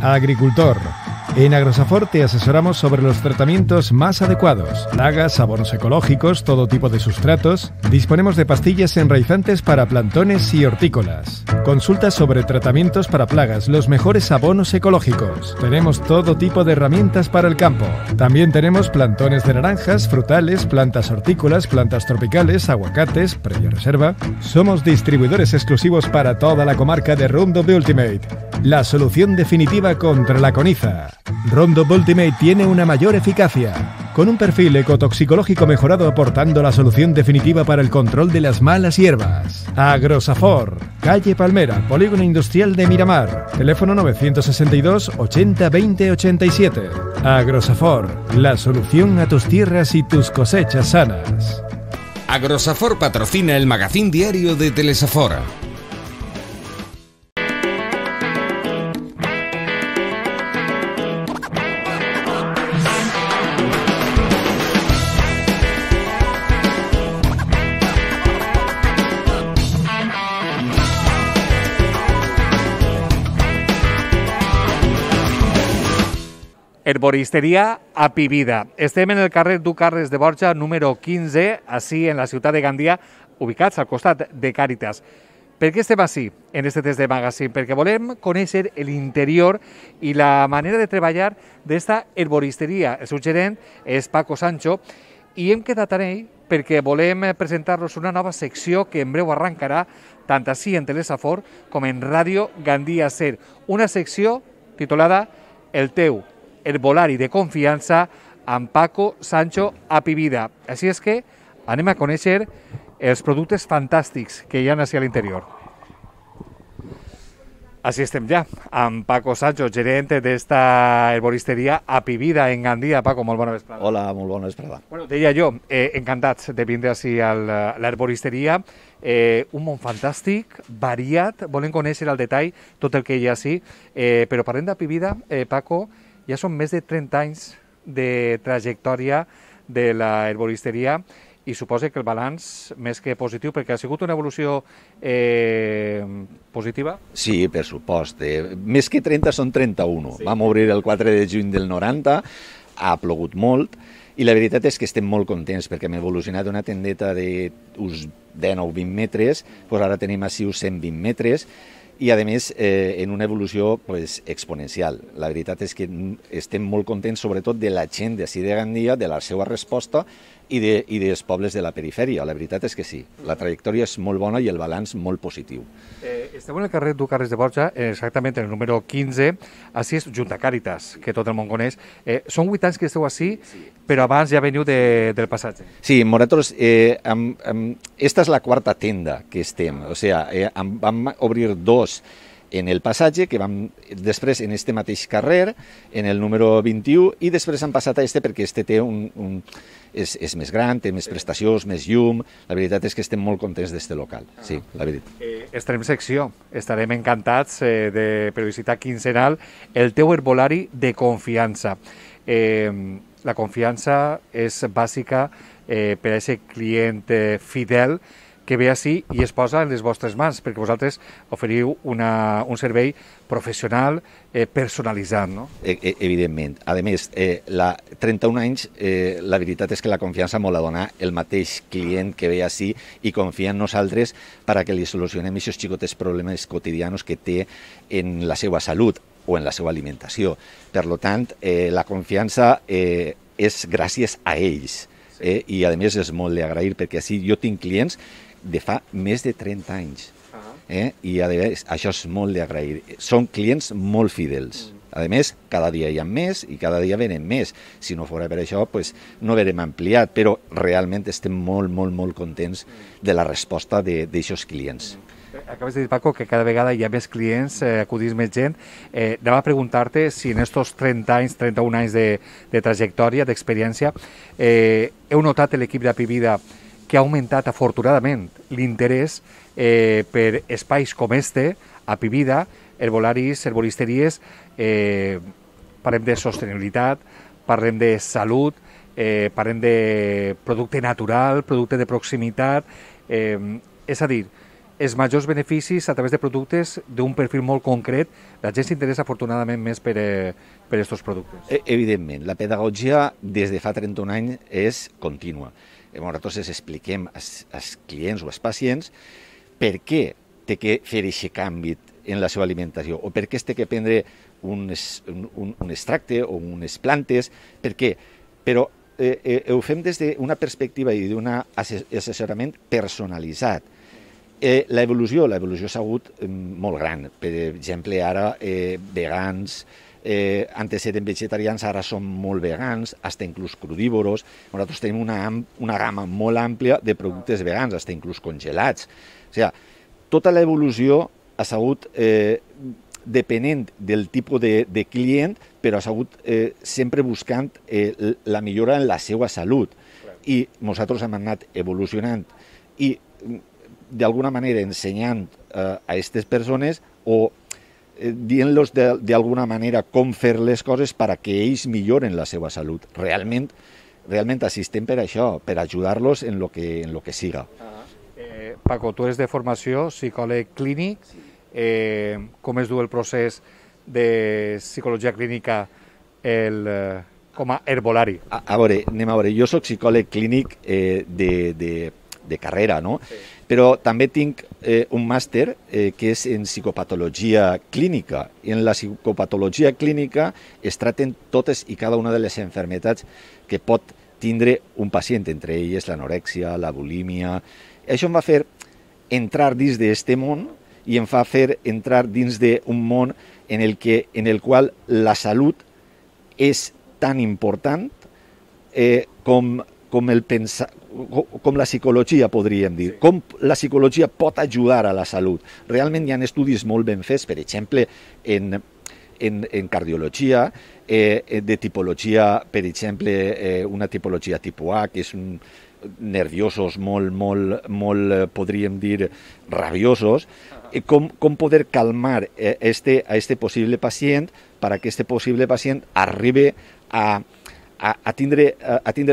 Agricultor. En Agrosafor te asesoramos sobre los tratamientos más adecuados, plagas, abonos ecológicos, todo tipo de sustratos. Disponemos de pastillas enraizantes para plantones y hortícolas. Consulta sobre tratamientos para plagas, los mejores abonos ecológicos. Tenemos todo tipo de herramientas para el campo. También tenemos plantones de naranjas, frutales, plantas hortícolas, plantas tropicales, aguacates, previa reserva. Somos distribuidores exclusivos para toda la comarca de Roundup Ultimate, la solución definitiva contra la coniza. Roundup Ultimate tiene una mayor eficacia, con un perfil ecotoxicológico mejorado aportando la solución definitiva para el control de las malas hierbas. Agrosafor, calle Palmera, Polígono Industrial de Miramar, teléfono 962 80 20 87. Agrosafor, la solución a tus tierras y tus cosechas sanas. Agrosafor patrocina el magazín diario de Telesafor. Herboristeria Apivida. Estem en el carrer Duc Carles de Borja, número 15, així en la ciutat de Gandia, ubicats al costat de Càritas. Per què estem així, en este test de magazine? Perquè volem conèixer l'interior i la manera de treballar d'esta herboristeria. El seu gerent és Paco Sancho i hem quedat amb ell perquè volem presentar-los una nova secció que en breu arrencarà tant així en Telesafor com en Ràdio Gandia Ser. Una secció titulada El teu herbolari de confiança amb Paco Sancho Apivida. Així és que anem a conèixer els productes fantàstics que hi ha així a l'interior. Així estem ja, amb Paco Sancho, gerent d'esta herboristeria Apivida en Gandia. Paco, molt bona vesprada. Hola, molt bona vesprada. Bueno, deia jo, encantats de vindre així a l'herboristeria. Un món fantàstic, variat, volem conèixer al detall tot el que hi ha així, però parlem d'Apivida, Paco, ja són més de 30 anys de trajectòria de la herboristeria i suposa que el balanç més que positiu, perquè ha sigut una evolució positiva? Sí, per supost. Més que 30 són 31. Sí. Vam obrir el 4 de juny del 90, ha plogut molt i la veritat és que estem molt contents perquè hem evolucionat d'una tendeta d'uns 10 o 20 metres, doncs ara tenim així uns 120 metres, i, a més, en una evolució exponencial. La veritat és que estem molt contents, sobretot de la gent d'ací de Gandia, de la seva resposta i dels pobles de la perifèria. La veritat és que sí, la trajectòria és molt bona i el balanç molt positiu. Esteu en el carrer Duc Carles de Borja, exactament en el número 15, així és junt a Càritas, que tot el món coneix. Són 8 anys que esteu així, però abans ja veniu del passatge. Sí, nosaltres, esta és la quarta tenda que estem, o sigui, vam obrir 2 en el passatge, que vam després en este mateix carrer, en el número 21, i després han passat a este perquè este té és més gran, té més prestacions, més llum. La veritat és que estem molt contents d'este local, sí, la veritat. Estarem secció, estarem encantats de periodicitat quinzenal, el teu herbolari de confiança. La confiança és bàsica per a aquest client fidel que ve així i es posa en les vostres mans, perquè vosaltres oferiu un servei professional personalitzat, no? Evidentment. A més, 31 anys, la veritat és que la confiança me la dona el mateix client que ve així i confia en nosaltres perquè li solucionem aquests xicotes problemes quotidians que té en la seva salut o en la seva alimentació. Per tant, la confiança és gràcies a ells. I, a més, és molt d'agrair perquè així jo tinc clients de fa més de 30 anys. I, a més, això és molt d'agrair. Són clients molt fidels. A més, cada dia hi ha més i cada dia venen més. Si no fos per això, no haurem ampliat, però realment estem molt, molt, molt contents de la resposta d'aquests clients. Acabes de dir, Paco, que cada vegada hi ha més clients, acudís més gent. Anem a preguntar-te si en estos 30 anys, 31 anys de trajectòria, d'experiència, heu notat l'equip d'Apivida que ha augmentat afortunadament l'interès per espais com este, Apivida, herbolaris, herboristeries, parlem de sostenibilitat, parlem de salut, parlem de producte natural, producte de proximitat, és a dir, els majors beneficis a través de productes d'un perfil molt concret. La gent s'interessa afortunadament més per aquests productes. Evidentment, la pedagogia des de fa 31 anys és contínua. Nosaltres expliquem als clients o als pacients per què té que fer aquest canvi en la seva alimentació o per què es té que prendre un extracte o unes plantes, per què? Però ho fem des d'una perspectiva i d'un assessorament personalitzat. L'evolució ha sigut molt gran. Per exemple, ara vegans, antes eren vegetarians, ara són molt vegans, fins inclús crudívoros. Nosaltres tenim una gamma molt àmplia de productes vegans, fins inclús congelats. O sigui, tota l'evolució ha sigut depenent del tipus de client, però ha sigut sempre buscant la millora en la seva salut. I nosaltres hem anat evolucionant i d'alguna manera ensenyant a aquestes persones o dient-los d'alguna manera com fer les coses perquè ells milloren la seva salut. Realment assistem per això, per ajudar-los en lo que siga. Paco, tu eres de formació psicòleg clínic. Com es du el procés de psicologia clínica com a herbolari? A veure, jo soc psicòleg clínic de carrera, no? Sí. Però també tinc un màster que és en psicopatologia clínica. I en la psicopatologia clínica es tracten totes i cada una de les malalties que pot tindre un pacient, entre elles l'anorèxia, la bulímia. Això em va fer entrar dins d'aquest món i em fa fer entrar dins d'un món en el qual la salut és tan important com la psicologia, podríem dir. Sí. Com la psicologia pot ajudar a la salut. Realment hi ha estudis molt ben fets, per exemple, en cardiologia, de tipologia, per exemple, una tipologia tipus A, que és nerviosos molt, podríem dir, rabiosos, com poder calmar a este possible pacient perquè aquest possible pacient arribi a tindre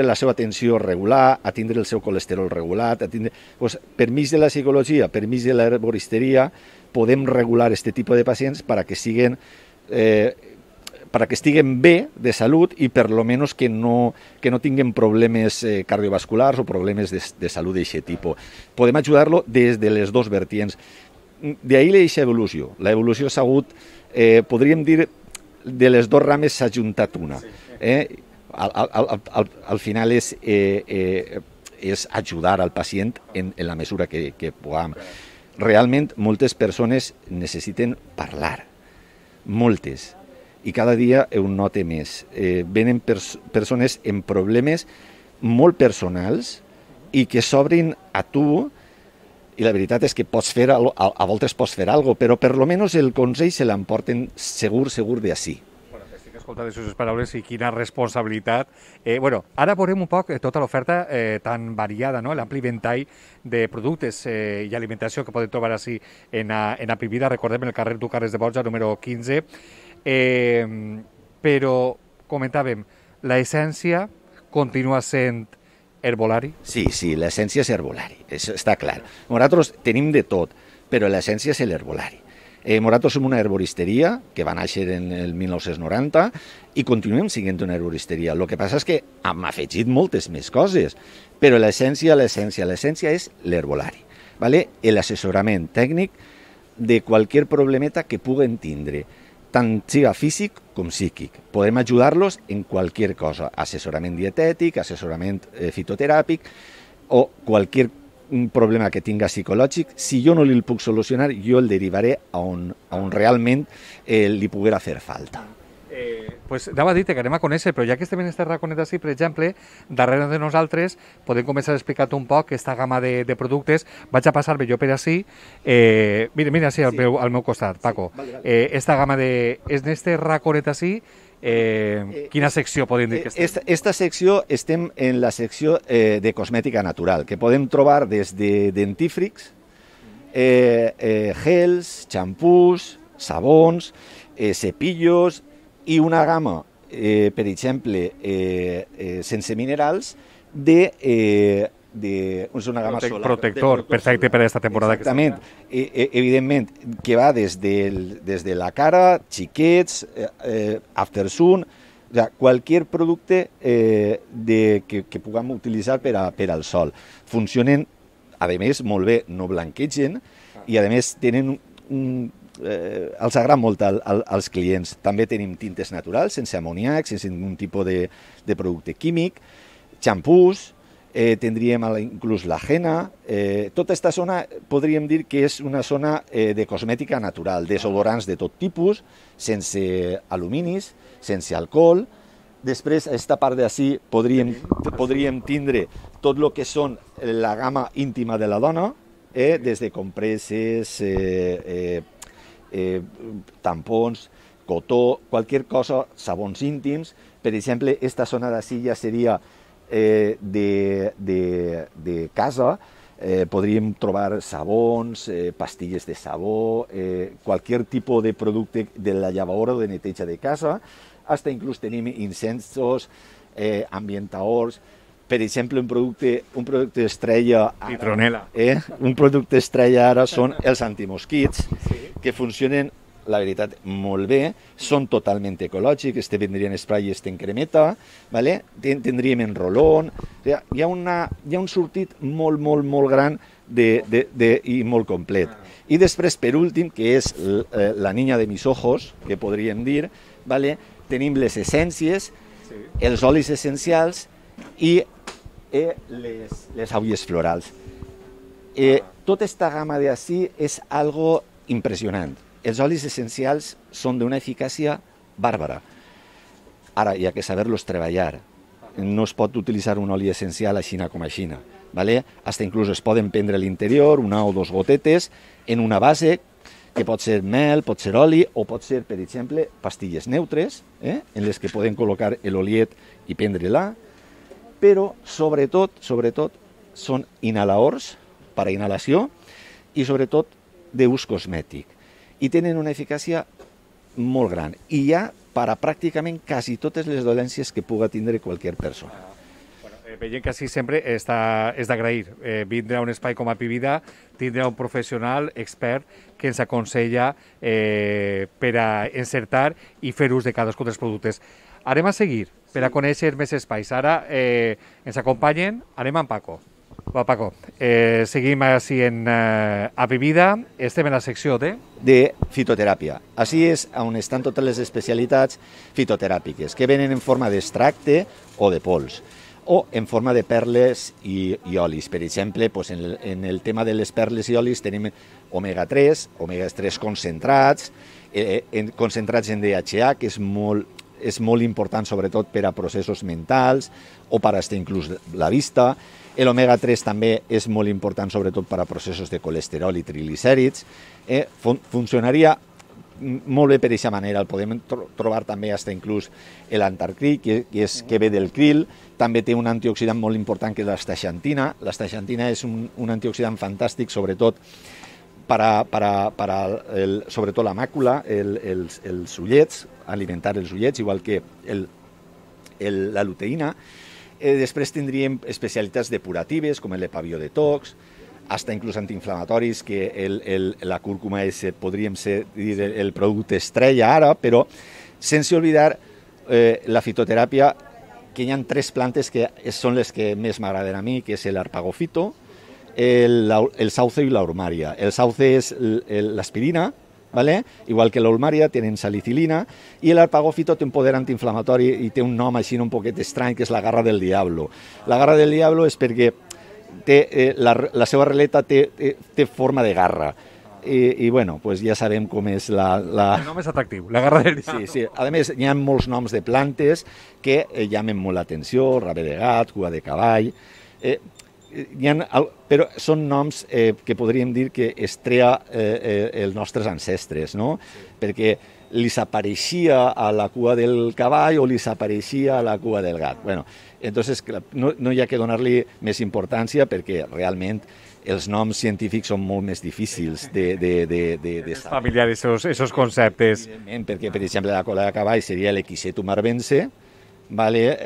la seva tensió regular, a tindre el seu colesterol regulat, per mig de la psicologia, per mig de l'herboristeria, podem regular aquest tipus de pacients perquè estiguen bé de salut i per lo menos que no tinguin problemes cardiovasculars o problemes de salut d'aquest tipus. Podem ajudar-lo des de les dues vertients. D'ahir l'eixa evolució. L'evolució s'ha hagut, podríem dir, de les dues rames s'ha juntat una. Al final és ajudar al pacient en la mesura que puguem. Realment, moltes persones necessiten parlar. Moltes. I cada dia ho note més. Venen persones amb problemes molt personals i que s'obrin a tu, i la veritat és que a voltes pots fer alguna cosa, però per lo menos el consell se l'emporten segur d'ací. Estic escoltant les seves paraules i quina responsabilitat. Ara veurem un poc tota l'oferta tan variada, no? L'ampli ventall de productes i alimentació que podem trobar així en Apivida, recordem, en el carrer Ducarres de Borja, número 15. Però, comentàvem, l'essència continua sent herbolari? Sí, l'essència és herbolari, està clar. Nosaltres tenim de tot, però l'essència és l'herbolari. Nosaltres som una herboristeria que va néixer en el 1990 i continuem sent una herboristeria. El que passa és que hem afegit moltes més coses, però l'essència és l'herbolari. L'assessorament tècnic de qualsevol problemeta que puguen tindre, tant siga físic com psíquic. Podem ajudar-los en qualsevol cosa, assessorament dietètic, assessorament fitoteràpic o qualsevol problema que tinga psicològic. Si jo no li puc solucionar, jo el derivaré a on realment li poguera fer falta. Anava a dir que anem a conèixer, però ja que estem en aquest raconet així, per exemple, darrere de nosaltres podem començar a explicar-te un poc aquesta gamma de productes. Vaig a passar-me jo per així. Mira així al meu costat, Paco. Esta gamma de... És en este raconet així, quina secció podem dir que estem? Esta secció estem en la secció de cosmètica natural, que podem trobar des de dentífrics, gels, xampús, sabons, cepillos i una gamma, per exemple, sense minerals, de és una gamma solar. Protector, perfecte per a aquesta temporada. Exactament. Evidentment, que va des de la cara, xiquets, aftersun, o sea, cualquier producte que puguem utilitzar per al sol. Funcionen, a més, molt bé, no blanquegen i, a més, tenen els agrada molt als clients. També tenim tintes naturals, sense amoníac, sense ningun tipus de producte químic, xampús, tindríem inclús la henna. Tota aquesta zona podríem dir que és una zona de cosmètica natural, desodorants de tot tipus, sense aluminis, sense alcohol. Després, a aquesta part d'ací podríem tindre tot el que són la gamma íntima de la dona, des de compreses, tampons, cotó, qualsevol cosa, sabons íntims. Per exemple, aquesta zona d'ací ja seria de casa, podríem trobar sabons, pastilles de sabó, qualsevol tipus de producte de la llavadora o de neteja de casa, fins inclús tenim incensos, ambientadors. Per exemple, un producte estrella... Citronela. Un producte estrella ara són els antimosquits, que funcionen, la veritat, molt bé, són totalment ecològics, este vendrien spray i este en cremeta, ¿vale? Tindríem en rolón, hi ha un sortit molt, molt, molt gran i molt complet. I després, per últim, que és la niña de mis ojos, que podríem dir, ¿vale? Tenim les essències, els olis essencials i les aules florals. Tota aquesta gamma d'ací és algo impressionant. Els olis essencials són d'una eficàcia bàrbara. Ara, hi ha que saber-los treballar. No es pot utilitzar un oli essencial aixina com aixina. Fins inclús es poden prendre a l'interior una o dos gotetes en una base, que pot ser mel, pot ser oli, o pot ser, per exemple, pastilles neutres, en les que podem col·locar l'oliet i prendre-la, però, sobretot, són inhaladors per a inhalació i, sobretot, d'ús cosmètic. I tenen una eficàcia molt gran. I hi ha per a pràcticament quasi totes les dolències que puga tindre qualsevol persona. Veiem que així sempre és d'agrair. Vindre a un espai com a Pivida, tindre un professional expert que ens aconsella per a encertar i fer ús de cadascun dels productes. Anem a seguir per a conèixer més espais. Ara ens acompanyen, anem amb Paco. Va, Paco, seguim així a Pivida, estem en la secció de fitoteràpia. Així és on estan totes les especialitats fitoteràpiques, que venen en forma d'extracte o de pols, o en forma de perles i olis. Per exemple, en el tema de les perles i olis tenim omega-3, omega-3 concentrats, concentrats en DHA, que és molt important sobretot per a processos mentals o per a inclús la vista. L'omega-3 també és molt important sobretot per a processos de colesterol i triglicèrids. Funcionaria molt bé per aquesta manera. El podem trobar també fins inclús l'antarcril, que ve del krill. També té un antioxidant molt important que és l'astaxantina. L'astaxantina és un antioxidant fantàstic, sobretot sobretot la màcula, els ullets, alimentar els ullets, igual que la luteïna. Després tindríem especialitats depuratives, com l'epaviodetox, fins inclús antiinflamatoris, que la cúrcuma podríem dir el producte estrella ara, però sense oblidar la fitoteràpia, que hi ha 3 plantes que són les que més m'agraden a mi, que és l'arpagofito, el sauce i l'urmaria. El sauce és l'aspirina, igual que l'ulmaria, tenen salicilina, i l'arpagofito té un poder antiinflamatori i té un nom així un poquet estrany, que és la garra del diablo. La garra del diablo és perquè la seva releta té forma de garra. I bueno, pues ja sabem com és El nom és atractiu, la garra del diablo. Sí. A més, hi ha molts noms de plantes que llamen molt l'atenció, rave de gat, cua de cavall... però són noms que podríem dir que es trea els nostres ancestres, no? Perquè li s'apareixia a la cua del cavall o li s'apareixia a la cua del gat. Entonces, no hi ha que donar-li més importància perquè realment els noms científics són molt més difícils de saber. Familiar, esos conceptes. Perquè, per exemple, la cola de cavall seria l'Equisetum arvense, vale?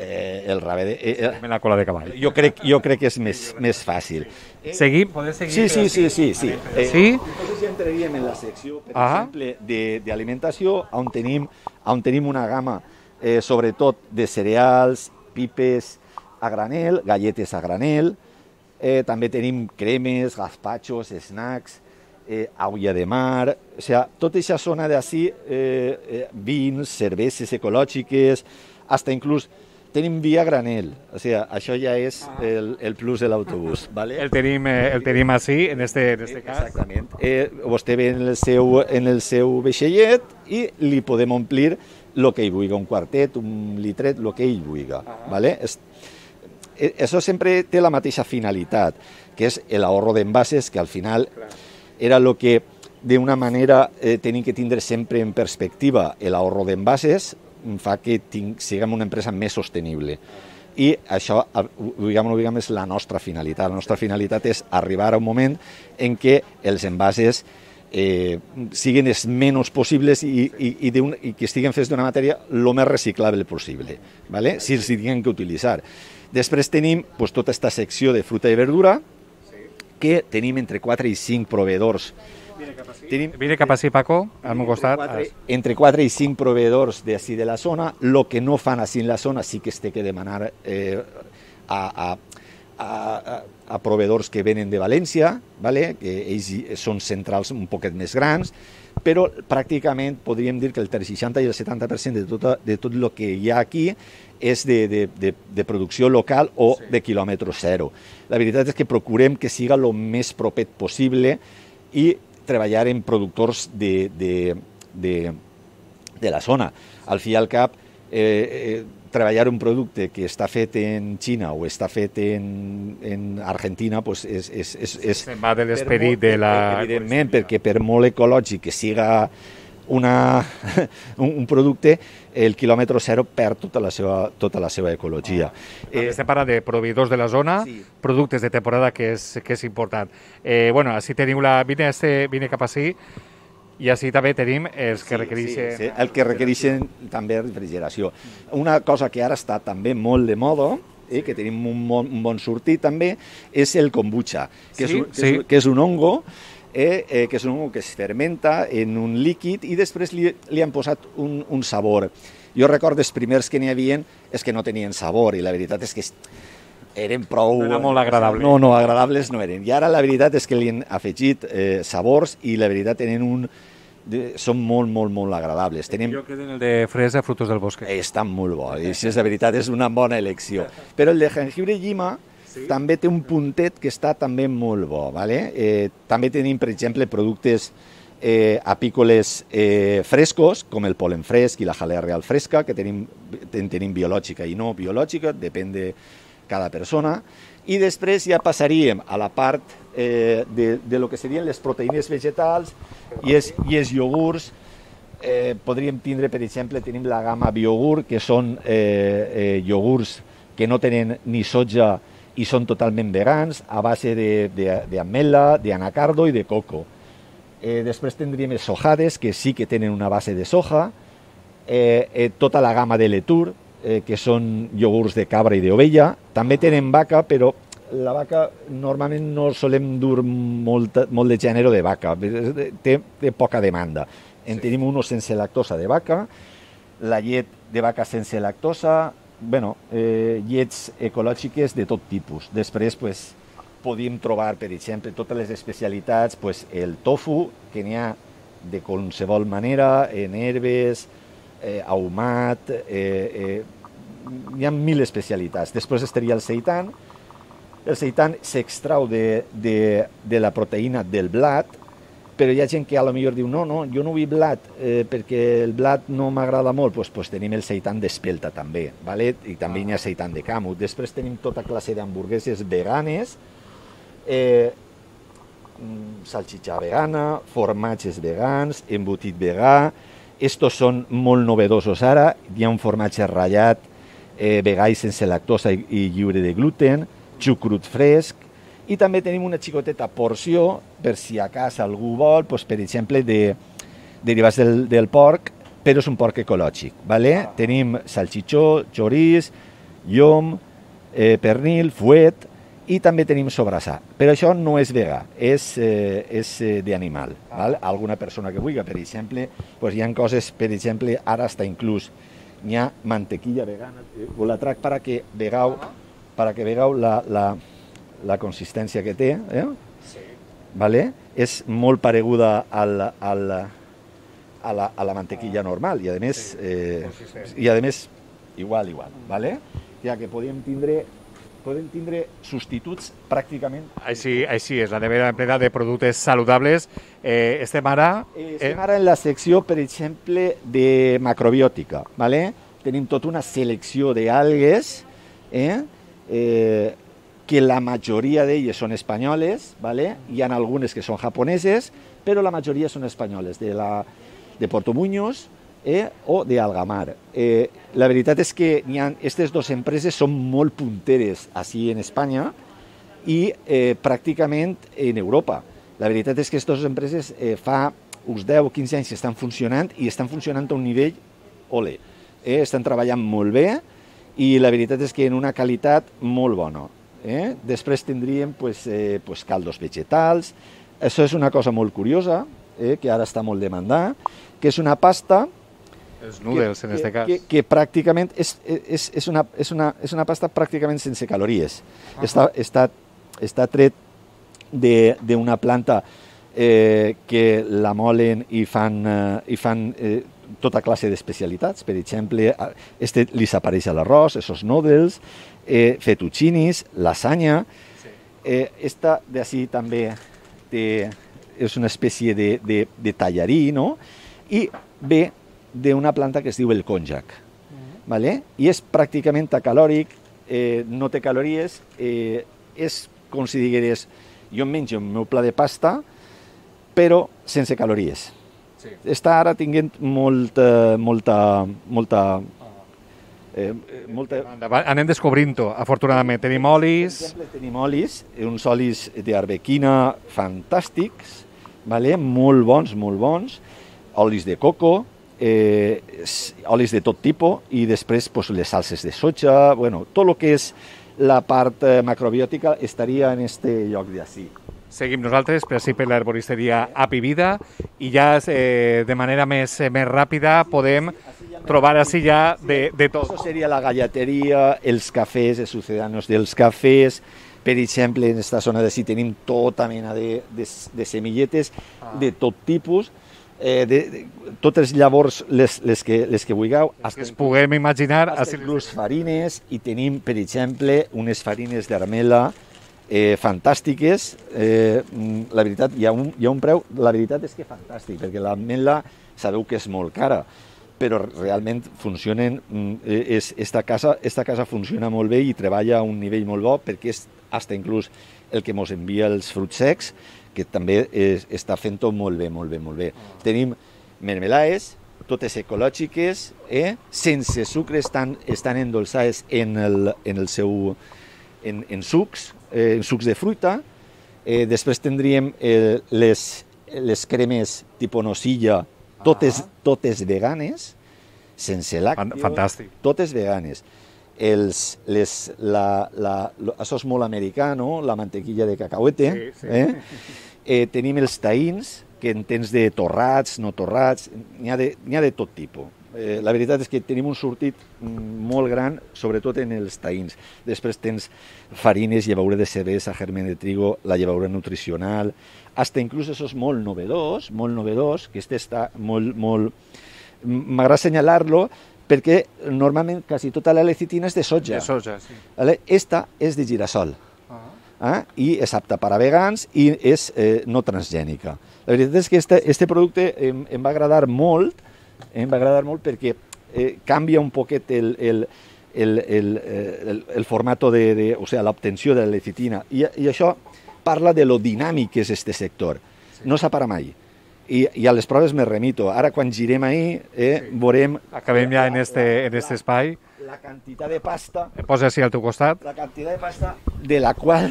El rave En la cola de cavall. jo crec que és més fàcil. Seguim? Podem seguir? Sí. Sí? Entonces ja entraríem en la secció, per exemple, d'alimentació, on tenim una gamma, sobretot de cereals, pipes a granel, galletes a granel, també tenim cremes, gazpachos, snacks, agulla de mar, o sea, tota aquesta zona d'ací, vins, cerveses ecològiques, hasta inclús tenim via granel, o sea, això ja és el plus de l'autobús, ¿vale? El tenim així, en este cas. Exactament. Vostè ve en el seu vaixellet i li podem omplir el que ell vulgui, un quartet, un litret, el que ell vulgui, ¿vale? Això sempre té la mateixa finalitat, que és l'ahorro d'envases, que al final era el que d'una manera tenim que tindre sempre en perspectiva. L'ahorro d'envases fa que siguem una empresa més sostenible. I això, diguem, és la nostra finalitat. La nostra finalitat és arribar a un moment en què els envases siguin els menys possibles i que estiguen fets d'una matèria el més reciclable possible, ¿vale? Si els tinguem que utilitzar. Després tenim tota aquesta secció de fruita i verdura, que tenim entre 4 i 5 proveedors. Vine cap així, Paco, al meu costat. Entre 4 i 5 proveedors d'ací de la zona. El que no fan així en la zona sí que es té que demanar a proveedors que venen de València, ¿vale? Que ells són centrals un poquet més grans, però pràcticament podríem dir que el 60 i el 70% de tot el que hi ha aquí és de producció local o de quilòmetre zero. La veritat és que procurem que siga el més proper possible i treballar en productors de la zona. Al fi i al cap, treballar un producte que està fet en Xina o està fet en Argentina se'n va de l'esperit de la... Evidentment, perquè per molt ecològic que siga un producte, el quilòmetre zero perd tota la seva ecologia. Estem parlant de proveïdors de la zona, productes de temporada, que és important. Bueno, així tenim vine cap així, i així també tenim els que requereixen... Sí, el que requereixen també refrigeració. Una cosa que ara està també molt de moda, que tenim un bon sortit també, és el kombucha, que és un hongo, que és un hongo que es fermenta en un líquid i després li han posat un sabor. Jo recordo els primers que n'hi havia és que no tenien sabor i la veritat és que eren prou... No era molt agradable. No, agradables no eren. I ara la veritat és que li han afegit sabors i la veritat són molt agradables. Jo quedo en el de fresa, frutos del bosque. Estan molt bo, i si és de veritat és una bona elecció. Però el de jengibre i llima també té un puntet que està també molt bo. També tenim, per exemple, productes apícoles frescos, com el polen fresc i la jalea real fresca, que tenim biològica i no biològica, depèn de cada persona. I després ja passaríem a la part de lo que serien les proteïnes vegetals i els iogurts. Podríem tindre, per exemple, tenim la gamma Biogur, que són iogurts que no tenen ni soja i són totalment vegans, a base d'ametla, d'anacardo i de coco. Després tindríem els sojades, que sí que tenen una base de soja, tota la gamma de Letur, que són iogurts de cabra i d'ovella. També tenen vaca, però la vaca normalment no solem dur molt de gènere de vaca, té poca demanda. En tenim uno sense lactosa de vaca, la llet de vaca sense lactosa, llets ecològiques de tot tipus. Després podíem trobar, per exemple, totes les especialitats, el tofu, que n'hi ha de qualsevol manera, en herbes, ahumat, hi ha 1000 especialitats. Després estaria el seitan. El seitan s'extrau de la proteïna del blat, però hi ha gent que a lo millor diu no, jo no vull blat perquè el blat no m'agrada molt, doncs tenim el seitan d'espelta també, i també hi ha seitan de camut. Després tenim tota classe d'hamburgueses veganes, salxitxa vegana, formatges vegans, embotit vegà. Estos són molt novedosos ara. Hi ha un formatge ratllat vegà i sense lactosa i lliure de gluten, xucrut fresc, i també tenim una xicoteta porció, per si a casa algú vol, per exemple, derivats del porc, però és un porc ecològic. Vale? Tenim salchichó, choriç, llom, pernil, fuet, i també tenim sobrassà. Però això no és vegà, és d'animal. Alguna persona que vulgui, per exemple, doncs hi ha coses, per exemple, ara està inclús, hi ha mantequilla vegana, us la trac perquè vegeu la consistència que té. Vale? És molt pareguda a la mantequilla normal i a més igual. Vale? Ja que podem tindre substituts pràcticament... Així és, la nevera plena de productes saludables. Estem ara en la secció, per exemple, de macrobiòtica. Vale? Tenim tota una selecció d'algues que la majoria d'elles són espanyoles, vale? Hi ha algunes que són japoneses, però la majoria són espanyoles, de Porto Muñoz o d'Algamar. La veritat és que aquestes dues empreses són molt punteres així en Espanya i pràcticament en Europa. La veritat és que aquestes dues empreses fa uns 10 o 15 anys que estan funcionant i estan funcionant a un nivell ole. Estan treballant molt bé i la veritat és que en una qualitat molt bona. Després tindríem caldos vegetals. Això és una cosa molt curiosa, que ara està molt demandada, que és una pasta... Els noodles, en aquest cas. Que pràcticament és una pasta pràcticament sense calories. Està tret d'una planta que la molen i fan tota classe d'especialitats. Per exemple, li s'apareix a l'arròs, esos noodles, fettuccinis, lasanya. Esta d'ací també és una espècie de tallarí, no? I ve d'una planta que es diu el konjac. I és pràcticament acalòric, no té calories, és com si digueres, jo em menjo el meu pla de pasta, però sense calories. Està ara tinguent molta... Anem descobrint-ho, afortunadament. Tenim olis... Per exemple, tenim olis, uns olis d'arbequina fantàstics, molt bons, olis de coco, olis de tot tipus, i després les salses de soja, tot el que és la part macrobiòtica estaria en aquest lloc d'ací. Seguim nosaltres, per així per l'herboristeria Happy Vida, i ja de manera més ràpida podem trobar així ja de tot. Això seria la gallateria, els cafès, els sucedanos dels cafès. Per exemple, en aquesta zona d'ací tenim tota mena de semilletes de tot tipus, totes llavors les que vulgueu. Que es puguem imaginar. Inclús farines, i tenim, per exemple, unes farines d'armela fantàstiques. La veritat, hi ha un preu, la veritat és que fantàstic, perquè l'ametla sabeu que és molt cara, però realment funcionen, esta casa funciona molt bé i treballa a un nivell molt bo, perquè és fins inclús el que ens envia els fruits secs, que també està fent-ho molt bé. Tenim mermelades, totes ecològiques, sense sucre, estan endolçades en sucs de fruita. Després tindríem les cremes tipus nocilla, totes veganes, sense làcteos. Fantàstic. Totes veganes. Això és molt americà, no? La mantequilla de cacahuete. Tenim els taïns, que en tens de torrats, no torrats, n'hi ha de tot tipus. La veritat és que tenim un sortit molt gran, sobretot en els taïns. Després tens farines, llevaura de cervesa, germen de trigo, la llevaura nutricional, fins inclús això és molt novedós, que està molt... M'agrada assenyalar-lo, perquè normalment quasi tota la lecitina és de soja. De soja, sí. Esta és de girassol. I és apta per a vegans i és no transgènica. La veritat és que este producte em va agradar molt perquè canvia un poquet el formato o sea, l'obtenció de la lecitina. I això parla de lo dinàmic que és este sector. No s'apara mai. I a les proves me remito. Ara, quan girem ahir, veurem... Acabem ja en este espai. La quantitat de pasta... Posa així al teu costat. La quantitat de pasta de la qual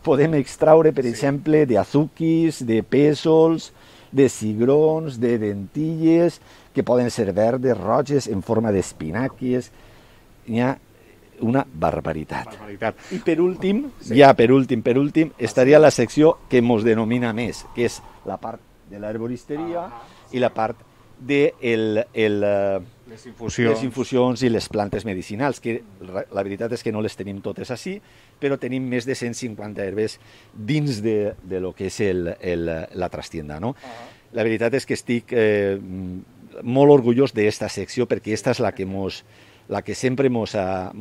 podem extraure, per exemple, de azuquis, de pèsols, de cigrons, de dentilles, que poden ser verdes, roges, en forma d'espinàquies. Hi ha una barbaritat. I per últim, estaria la secció que ens denomina més, que és la part de l'herboristeria i la part de les infusions i les plantes medicinals, que la veritat és que no les tenim totes així, però tenim més de 150 herbes dins de lo que és la trastienda, no? La veritat és que estic molt orgullós d'esta secció, perquè aquesta és la que sempre mos ha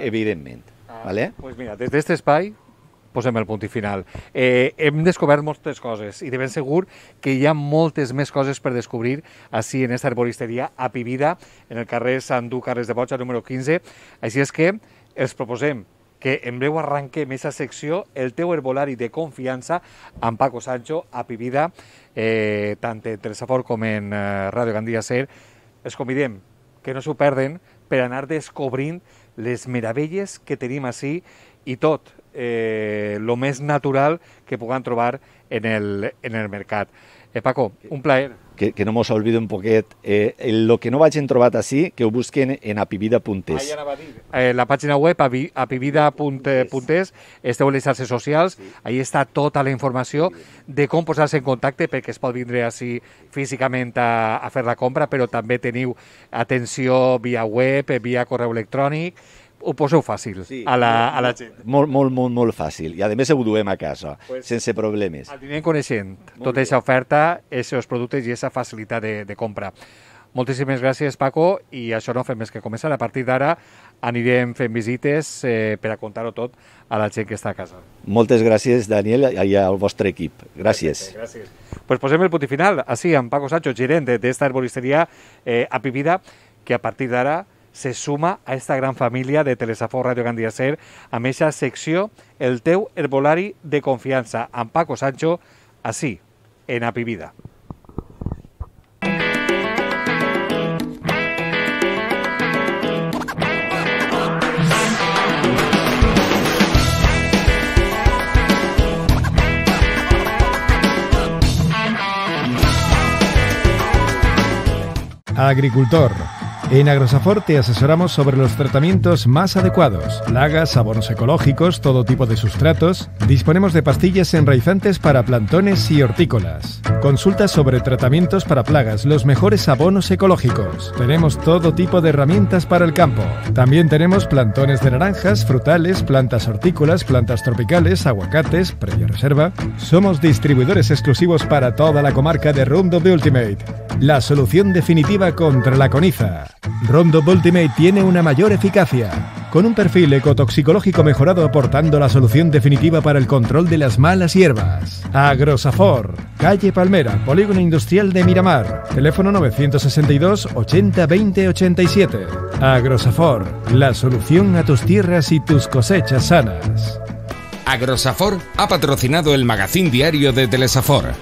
evidentment. Pues mira, des d'aquest espai posem el punt i final. Hem descobert moltes coses i de ben segur que hi ha moltes més coses per descobrir així en esta herboristeria a Pibida, en el carrer Sant Du Carles de Borja, número 15. Així és que els proposem que en breu arranquem aquesta secció, el teu herbolari de confiança, amb Paco Sancho, a Pibida, tant en Telesafort com en Ràdio Gandia Ser. Els convidem que no s'ho perden per anar descobrint les meravelles que tenim així i tot el més natural que puguem trobar en el mercat. Paco, un plaer. Que no mos oblidi un poquet. El que no vagin trobat així, que ho busquen en apivida.es. La pàgina web apivida.es, esteu en les xarxes socials, ahí està tota la informació de com posar-se en contacte, perquè es pot vindre així físicament a fer la compra, però també teniu atenció via web, via correu electrònic. Ho poseu fàcil a la gent. Molt fàcil. I a més ho duem a casa, sense problemes. Anirem coneixent tota aquesta oferta, aquests productes i aquesta facilitat de compra. Moltíssimes gràcies, Paco, i això no fem més que començar. A partir d'ara anirem fent visites per a contar-ho tot a la gent que està a casa. Moltes gràcies, Daniel, i al vostre equip. Gràcies. Gràcies. Pues posem el punt i final, així, amb Paco Sancho, gerent d'esta herboristeria a Pibida, que a partir d'ara se suma a esta gran família de Telesafort Ràdio Gandia Ser amb aquesta secció, el teu herbolari de confiança, amb Paco Sancho, així, en Apivida. Agricultor. En Agrosafort te asesoramos sobre los tratamientos más adecuados, plagas, abonos ecológicos, todo tipo de sustratos. Disponemos de pastillas enraizantes para plantones y hortícolas. Consulta sobre tratamientos para plagas, los mejores abonos ecológicos. Tenemos todo tipo de herramientas para el campo. También tenemos plantones de naranjas, frutales, plantas hortícolas, plantas tropicales, aguacates, previa reserva. Somos distribuidores exclusivos para toda la comarca de Roundup Ultimate, la solución definitiva contra la coniza. Roundup Ultimate tiene una mayor eficacia, con un perfil ecotoxicológico mejorado, aportando la solución definitiva para el control de las malas hierbas. Agrosafort, calle Palmera, Polígono Industrial de Miramar, teléfono 962 80 20 87. Agrosafort, la solución a tus tierras y tus cosechas sanas. Agrosafort ha patrocinado el magazín diario de Telesafort.